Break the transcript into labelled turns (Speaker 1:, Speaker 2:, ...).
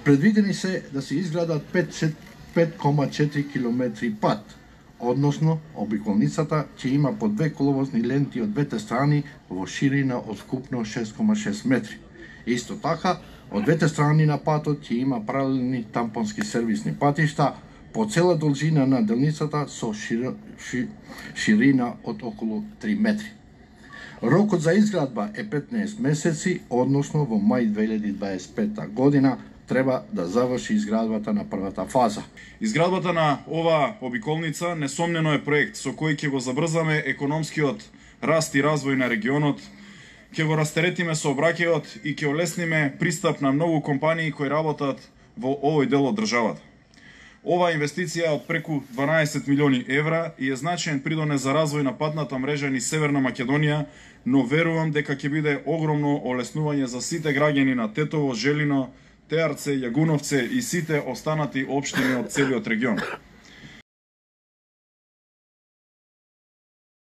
Speaker 1: Предвидени се да се изградат 5,4 км пат, односно обиколницата ќе има по 2 коловозни ленти од двете страни во ширина од скупно 6,6 метри. Исто така, од двете страни на патот ќе има паралелни тампонски сервисни патишта по цела должина на делницата со ширина од околу 3 метри. Рокот за изградба е 15 месеци, односно во мај 2025 година треба да заврши изградбата на првата фаза.
Speaker 2: Изградбата на оваа обиколница несомнено е проект со кој ќе го забрзаме економскиот раст и развој на регионот, ќе го растеретиме сообраќајот и ќе олесниме пристап на многу компании кои работат во овој дел од државата. Оваа инвестиција од преку 12 милиони евра и е значаен придонес за развој на патната мрежа низ Северна Македонија, но верувам дека ќе биде огромно олеснување за сите граѓани на Тетово, Желино, Теарце, Јагуновце и сите останати општини од целиот регион.